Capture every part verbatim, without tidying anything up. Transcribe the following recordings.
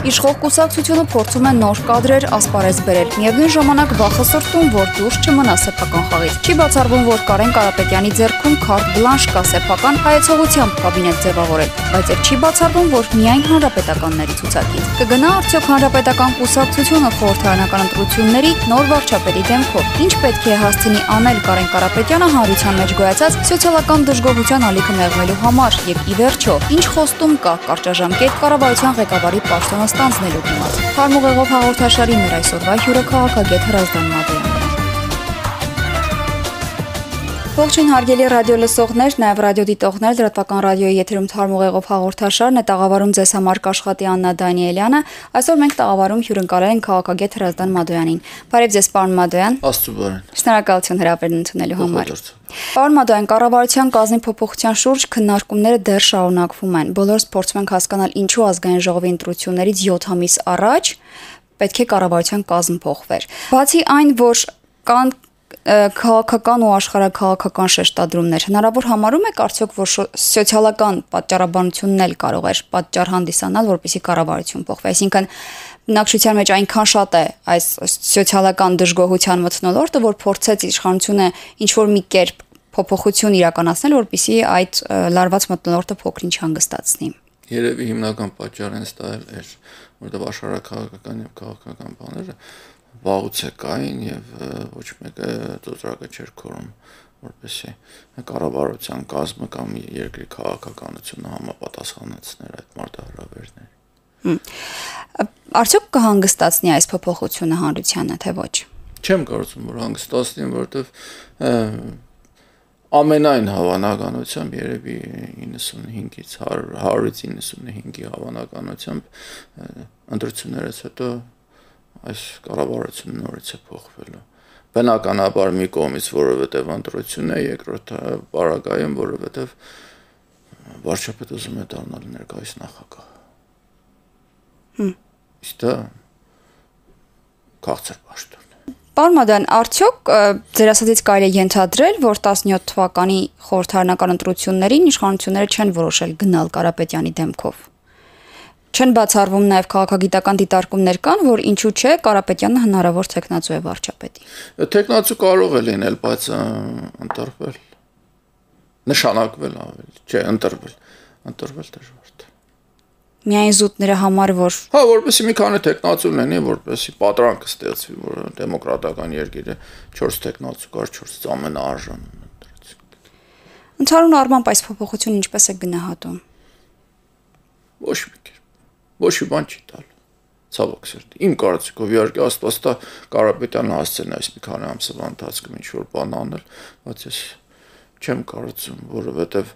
Իշխող կուսակցությունը փորձում է նոր կադրեր ասպարեզ բերել, միևնույն ժամանակ վախը սրտում, որ դուրս չմնա սեփական խաղից։ Չի բացառվում, որ Կարեն Կարապետյանի ձեռքում քարտ բլանշ կա սեփական հայեցողությամբ կաբինետ ձևավորել, բայց եւ չի բացառվում, որ միայն հանրապետականների ցուցակից։ Կգնա արդյոք հանրապետական կուսակցությունը խորհրդարանական ընտրությունների նոր վարչապետի դեմքով։ Ինչ պետք է հասցնի անել Կարեն Կարապետյանը հանրության մեջ գոյացած սոցիալական դժգոհության ալիքը մեղմելու համար եւ ի վերջո, ինչ խոստում կա կարճաժամկետ կառավարության ղեկավարի պաշտոնը ստանձնելու դիմաց։ Հարմուղեղով հաղորդաշարի մեր այսօրվա հյուրը քաղաքագետ Հրազդան Մադոյանն է։ Ողջույն հարգելի ռադիո լսողներ, նաև ռադիո դիտողներ, լրատվական ռադիոյի եթերում Հարմուղեղով հաղորդաշարն է, տաղավարում ձեզ համար կաշխատի Աննա Դանիելյանը։ Այսօր մենք տաղավարում հյուրընկալել ենք քաղաքագետ Հրազդան Մադոյանին։ Բարև ձեզ, պարոն Մադոյան։ Աստծո բարեն։ Շնորհակալություն հրավերն ընդունելու համար։ Պարոն Մադոյան, կառավարության կազմի փոփոխության շուրջ քննարկումները դեռ շարունակվում են։ Բոլորս փորձում ենք հասկանալ, ինչու ազգային ժողովի ընտրություններից յոթ ամիս առաջ պետք է կառավարության կազմ փոխվեր։ Բացի այն, որ կան քաղաքական ու աշխարհաքաղաքական շեշտադրումներ, հնարավոր համարում եք արդյոք, որ սոցիալական պատճառաբանությունն էլ կարող էր պատճառ հանդիսանալ, որպեսզի կառավարություն փոխվի, այսինքն բնակչության մեջ այնքան շատ է այս սոցիալական դժգոհության մթնոլորտը, որ փորձեց իշխանությունը ինչ-որ մի կերպ փոփոխություն իրականացնել, որպեսզի այդ լարված մթնոլորտը փոքր-ինչ հանգստացնի։ Երևի հիմնական պատճառն դա էր, որովհետև աշխարհաքաղաքական եւ քաղաքական բաները վաղուց է կային եւ ոչ մեկը ծոծրակը չէր քորում, որպեսզի կառավարության կազմը կամ երկրի քաղաքականությունը համապատասխանեցներ այդ մարտահրավերներին։ Արդյոք կհանգստացնի այս փոփոխությունը հանրությանը, թե ոչ։ Չեմ կարծում, որ հանգստացնի, որովհետև ամենայն հավանականությամբ երևի իննսունհինգից հարյուրից իննսունհինգի հավանականությամբ ընտրություններից հետո այս կառավարությունը նորից է փոխվելու։ Բնականաբար մի կողմից, որովհետև ընտրությունն է, երկրորդ պարագայում, որովհետև վարչապետը ուզում է դառնալ ներկայիս նախագահ։ Իսկ դա քաղցր պաշտոն է։ Պարոն Մադոյան, արդյոք ձեր ասածից կարելի է ենթադրել, որ տասնյոթ թվականի խորհրդարանական ընտրություններին իշխանությունները չեն որոշել գնալ Կարապետյանի դեմքով։ Չեն բացառվում նաև քաղաքագիտական դիտարկումներ կան, որ ինչու չէ Կարապետյանը հնարավոր թեկնածու է վարչապետի։ Թեկնածու կարող է լինել, բայց ընտրվել, նշանակվել ավելի, չէ, ընտրվել, ընտրվել դժվար է։ Միայն զուտները համար, որ Հա, որպեսզի մի քանի թեկնածու լինի, որպեսզի պատրանք ստեղծվի, որ դեմոկրատական երկիրը չորս թեկնածու կար, չորս ամենաարժանն ընտրեցին։ Ընդհանուր առմամբ այս փոփոխությունը ինչպես է գնահատում։ Ոչ մի կերպ, ոչ մի բան չի տալու, ցավոք սրտի։ Իմ կարծիքով իհարկե Աստված տա Կարապետյանը հասցեն այս մի քանի ամսվա ընթացքում ինչ-որ բան անել, բայց ես չեմ կարծում, որովհետև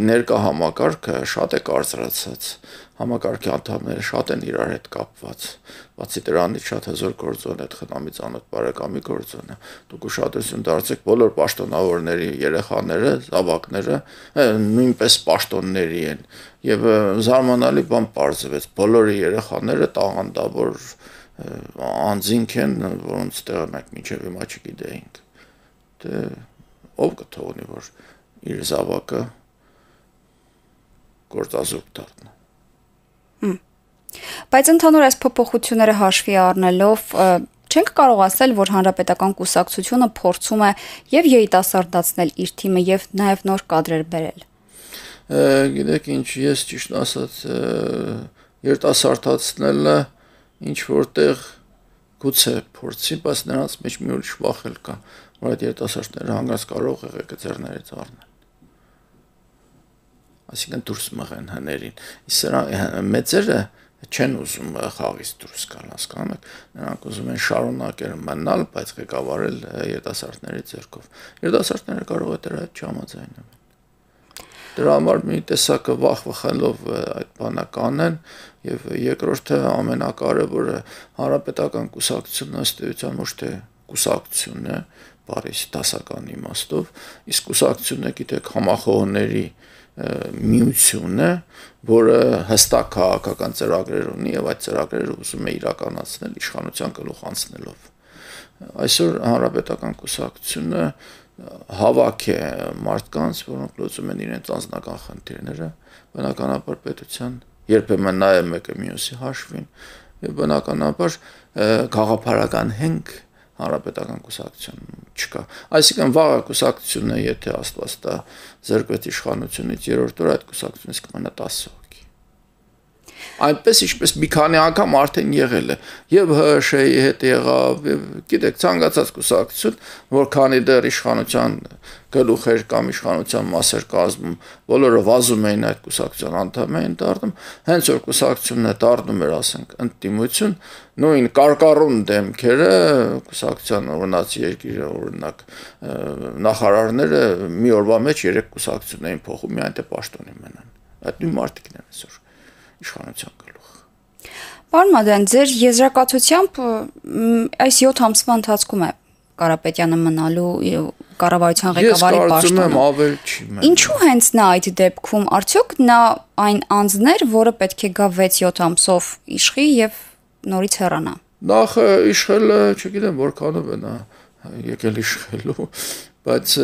ներկա համակարգը շատ է կարծրացած, համակարգի անդամները շատ են իրար հետ կապված, բացի դրանից շատ հզոր գործոն է, այդ խնամի ծանոթ բարեկամի գործոն է, դուք ուշադրություն դարձեք բոլոր պաշտոնավորների երեխաները, զավակները նույնպես պաշտոնների են եւ զարմանալի բան պարզվեց, բոլորի երեխաները տաղանդավոր անձինք են, որոնց տեղը մենք մինչեւ հիմա չգիտեինք։ Դե ով կթողնի, որ իր զավակը գործազուրկ դառնա։ Բայց ընդհանուր այս փոփոխությունները հաշվի առնելով չենք կարող ասել, որ հանրապետական կուսակցությունը փորձում է եւ երիտասարդացնել իր թիմը եւ նաեւ նոր կադրեր բերել։ Գիտեք ինչ, ես ճիշտ ասած երիտասարդացնելը ինչ որտեղ գուցե փորձի, բայց նրանց մեջ մի ուրիշ վախ էլ կա, որ այդ երիտասարդները հանգած կարող եղեքը ձեռներից առնեն։ Այսինքն դուրս մղեն հներին։ Իսկ սրա մեծերը չեն ուզում խաղից դուրս գալ, հասկանում եք, նրանք ուզում են շարունակել մնալ, բայց ղեկավարել երիտասարդների ձեռքով։ Երիտասարդները կարող է դրա հետ չհամաձայնեն։ Դրա համար մի տեսակը վախ վխելով այդ բանը կանեն եւ երկրորդը ամենակարևորը հանրապետական կուսակցությունը ըստ էության ոչ թե կուսակցությունն է, բարիս դասական իմաստով, իսկ կուսակցությունը գիտեք համախոհների միություն է, որը հստակ քաղաքական ծրագրեր ունի եւ այդ ծրագրերը ուզում է իրականացնել իշխանության գլուխ անցնելով։ Այսօր հանրապետական կուսակցությունը հավաք է մարդկանց, որոնք լուծում են իրենց անձնական խնդիրները, բնականաբար պետության երբեմն նայում մեկը մյուսի հաշվին, եւ բնականաբար գաղափարական հենք հանրապետական կուսակցություն չկա։ Այսինքն վաղ կուսակցությունը, եթե Աստված տա զրկվեց իշխանությունից երրորդ օրը, այդ կուսակցությունից կմնա տասը հոգի։ Այնպես ինչպես մի քանի անգամ արդեն եղել է, եւ ՀՀՇ-ի հետ եղավ, եւ գիտեք, ցանկացած կուսակցություն, որքանի դեռ իշխանության գլուխեր կամ իշխանության մասեր կազմում, բոլորը վազում էին այդ կուսակցության անդամ էին դառնում, հենց որ կուսակցությունն է դառնում էր, ասենք, ընդդիմություն, նույն կարկառուն դեմքերը կուսակցության օրինացի երկիրը օրինակ նախարարները մի օրվա մեջ երեք կուսակցություն էին փոխում, մի այնտեղ պաշտոնի մնան։ Այդ նույն մարդիկն են այսօր իշխանության գլուխ։ Պարոն Մադյան, ձեր եզրակացությամբ այս յոթ ամսվա ընթացքում է Կարապետյանը մնալու կառավարության ղեկավարի պաշտոնում։ Ես կարծում եմ ավել չի մնա։ Ինչու հենց նա այդ դեպքում, արդյոք նա այն անձն էր, որը պետք է գա վեց-յոթ ամսով իշխի եւ նորից հեռանա։ Նախ իշխելը, չգիտեմ, որքանով է նա եկել իշխելու, բայց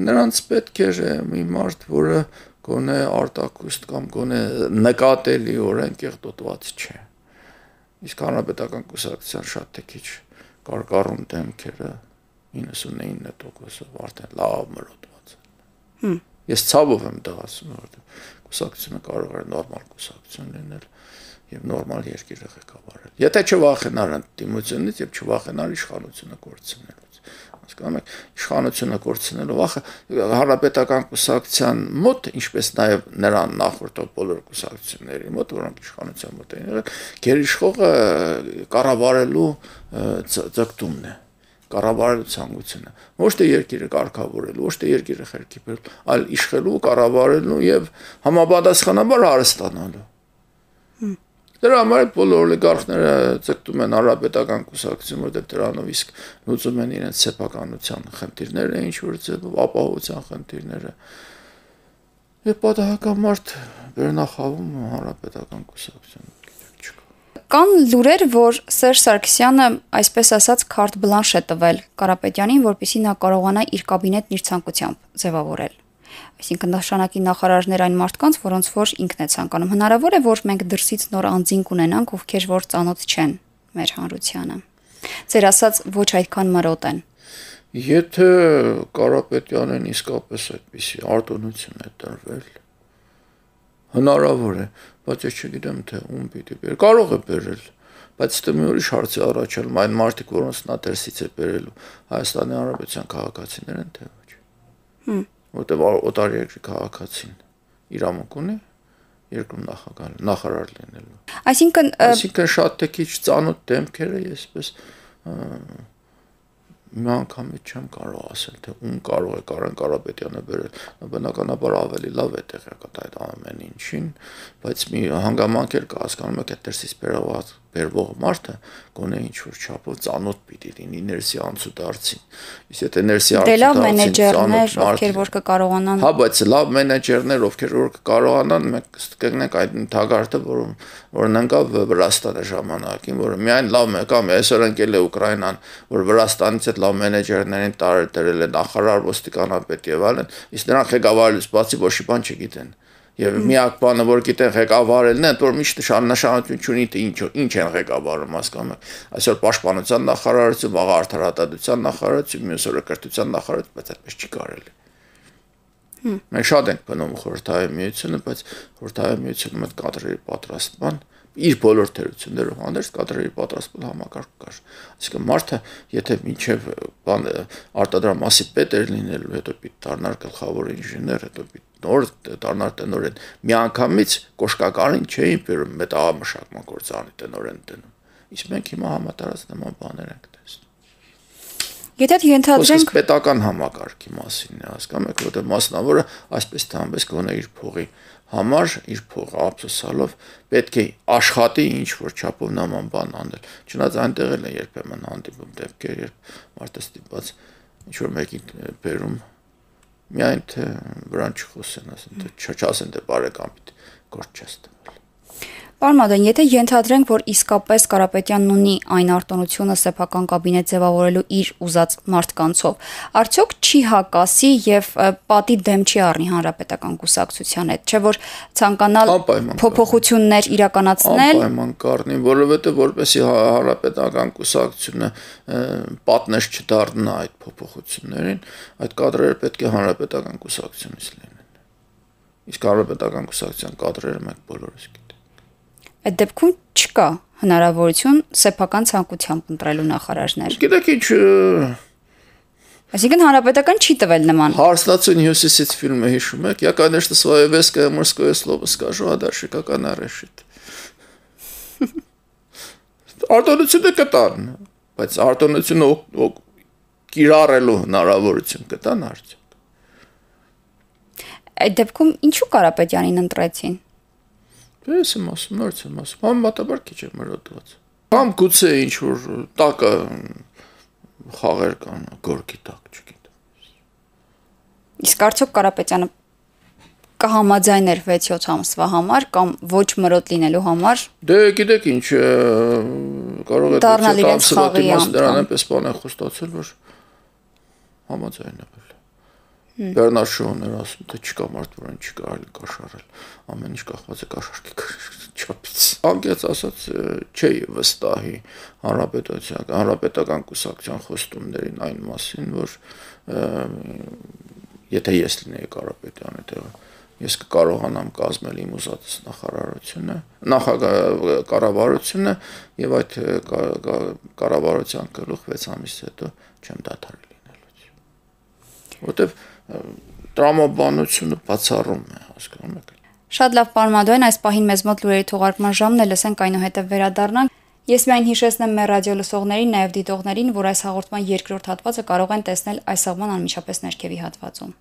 նրանց պետք էր մի մարդ, որը գոնե արտակուստ կամ գոնե նկատելիորեն կեղտոտված չէ։ Իսկ հանրապետական կուսակցության շատ թե քիչ կարկառուն դեմքերը իննսունինը տոկոսով արդեն լավ մրոտված են։ Ես ցավով եմ դա ասում, որովհետեւ կուսակցությունը կարող է նորմալ կուսակցություն լինել եւ նորմալ երկիրը ղեկավարել։ Եթե չվախենար ընդդիմությունից եւ չվախենար իշխանությունը կորցնելուց։ Հասկանում եք, իշխանությունը կորցնելու վախը հանրապետական կուսակցության մոտ, ինչպես նաեւ նրան նախորդող բոլոր կուսակցությունների մոտ, որոնք իշխանության մոտ են եղել, գերիշխողը կառավարելու ձգտումն է, կառավարելու ցանկությունը, ոչ թե երկիրը կարգավորելու, ոչ թե երկիրը խելքի բերելու, այլ իշխելու, կառավարելու եւ համապատասխանաբար հարստանալու։ Դրա համար բոլոր օլիգարխները ձգտում են հանրապետական կուսակցություն, որտեղ դրանով իսկ լուծում են իրենց սեփականության խնդիրները, ինչ որ ձևով ապահովության խնդիրները։ Եվ պատահականմարդ վերնախավում հանրապետական կուսակցություն չկա։ Կան լուրեր, որ Սերժ Սարգսյանը, այսպես ասած, քարտ բլանշ է տվել Կարապետյանին, որպեսզի նա կարողանա իր կաբինետն իր ցանկությամբ ձևավորել։ Այսինքն նշանակի նախարարներ այն մարդկանց, որոնց որ ինքն է ցանկանում։ Հնարավոր է, որ մենք դրսից նոր անձինք ունենանք, ովքեր որ ծանոթ չեն մեր հանրությանը։ Ձեր ասած ոչ այդքան մրոտ են։ Եթե Կարապետյանին իսկապես այդպիսի արտոնություն է տրվել, հնարավոր է, բայց ես չգիտեմ, թե ում պիտի բեր։ Կարող է բերել, բայց դա մի ուրիշ հարց է առաջանում, այն մարդիկ, որոնց նա դրսից է բերելու, Հայաստանի Հանրապետության քաղաքացիներ են, թե ոչ։ Որտեղ օտար երկրի քաղաքացին իրավունք ունի երկրում նախագահ նախարար լինելու։ Այսինքն այսինքն շատ թե քիչ ծանոթ դեմքերը եսպես մի անգամից չեմ կարող ասել, թե ում կարող է Կարեն Կարապետյանը բերել, բնականաբար ավելի լավ է տեղյակ այդ ամեն ինչին, բայց մի հանգամանք էլ կա, հասկանում եք, այդ դրսից բերված բերվող մարդը գոնե ինչ որ չափով ծանոթ պիտի լինի ներսի անցուդարձին։ Իսկ եթե ներսի անցուդարձին ծանոթ ովքեր որ կկարողանան։ Հա, բայց լավ մենեջերներ, ովքեր որ կկարողանան, մենք կգնենք այդ թագարտը, որում որն ընկավ Վրաստանի ժամանակին, որը միայն լավ մեկա, այսօր ընկել է Ուկրաինան, որ Վրաստանից այդ լավ մենեջերներին տարել դրել է նախարար, ոստիկանապետ եւ այլն, իսկ նրանք ղեկավարելուց բացի ոչ մի բան չգիտեն։ Եվ միակ բանը, որ գիտեն ղեկավարելն է, որ միշտ նշանակություն չունի, թե ինչ ինչ են ղեկավարում, հասկանում եք։ Այսօր պաշտպանության նախարարություն, վաղ արդարադատության նախարարություն, մյուս օրը կրթության նախարարություն, բայց այդպես չի կարելի։ Մենք շատ ենք բնում խորհրդային միությունը, բայց խորհրդային միությունում այդ կադրերի պատրաստման իր բոլոր թերություններով հանդերձ կադրերի պատրաստման համակարգ կար։ Այսինքն մարդը, եթե մինչև բան արտադրամասի պետ էր լինելու, հետո պիտի դառնար գլխավոր ինժեներ, հետո պիտի նոր դառնար տնօրեն, միանգամից կոշկակարին չէին բերում մետաղամշակման գործարանի տնօրեն դնում։ Իսկ մենք հիմա համատարած նման բաներ ենք տեսնում։ Եթե ենթադրենք պետական համակարգի մասին է, հասկանում եք, որտեղ մասնավորը այսպես թե այնպես գոնե իր փողի համար իր փողը ափսոսալով պետք է աշխատի ինչ որ չափով նման բան անել։ Չնայած այնտեղ էլ է երբեմն հանդիպում դեպքեր, երբ մարդը ստիպված ինչ որ մեկին բերում միայն թե վրան չխոսեն, ասեն թե չասեն թե բարեկամ պիտի գործ չես տվել։ Պարոն Մադոյան, եթե ենթադրենք, որ իսկապես Կարապետյանն ունի այն արտոնությունը սեփական կաբինետ ձևավորելու իր ուզած մարդկանցով, արդյոք չի հակասի եւ պատի դեմ չի առնի հանրապետական կուսակցության հետ, չէ՞ որ ցանկանալ փոփոխություններ իրականացնել։ Անպայման կառնի, որովհետեւ որպեսի հանրապետական կուսակցությունը պատնեշ չդառնա այդ փոփոխություններին, այդ կադրերը պետք է հանրապետական կուսակցությունից լինեն։ Իսկ հանրապետական կուսակցության կադրերը մենք բոլորս գիտենք։ Այդ դեպքում չկա հնարավորություն սեփական ցանկությամբ ընտրելու նախարարներ։ Գիտեք ինչ, այսինքն հանրապետական չի տվել նման։ Հարսնացուն հյուսիսից ֆիլմը հիշում եք, я, конечно, свое веское мужское слово скажу, а дальше как она решит։ Արտոնությունը կտան, բայց արտոնությունը կիրառելու հնարավորություն կտան արդյոք։ Այդ դեպքում ինչու Կարապետյանին ընտրեցին։ Ես եմ ասում, նորից եմ ասում, համեմատաբար քիչ է մրոտված։ Կամ գուցե ինչ-որ տակը խաղեր կան, գորգի տակ, չգիտեմ։ Իսկ արդյոք Կարապետյանը կհամաձայներ վեց-յոթ ամսվա համար կամ ոչ մրոտ լինելու համար։ Դե գիտեք ինչ, կարող է վեց-յոթ ամսվա դիմաց դրան այնպես բան է խոստացել, որ համաձայնվել։ Բեռնար Շոուներ ասում, թե չկա մարդ, որին չի կարելի կաշառել, ամեն ինչ կախված է կաշառքի չափից։ Անկեղծ ասած, չէի վստահի հանրապետության, հանրապետական կուսակցության խոստումներին այն մասին, որ եթե ես լինեի Կարապետյանի տեղը, ես կկարողանամ կազմել իմ ուզածս նախարարությունը, կառավարությունը եւ այդ կառավարության գլուխ վեց ամիս հետո չեմ դադարել լինելուց։ Որտեւ տրամաբանությունը բացառում է, հասկանում եք։ Շատ լավ, պարոն Մադոյան, այս պահին մեզ մոտ լուրերի թողարկման ժամն է, լսենք այնուհետև վերադառնանք։ Ես միայն հիշեցնեմ մեր ռադիո լսողներին, նաև դիտողներին, որ այս հաղորդման երկրորդ հատվածը կարող են տեսնել այս աղման անմիջապես ներքևի հատվածում։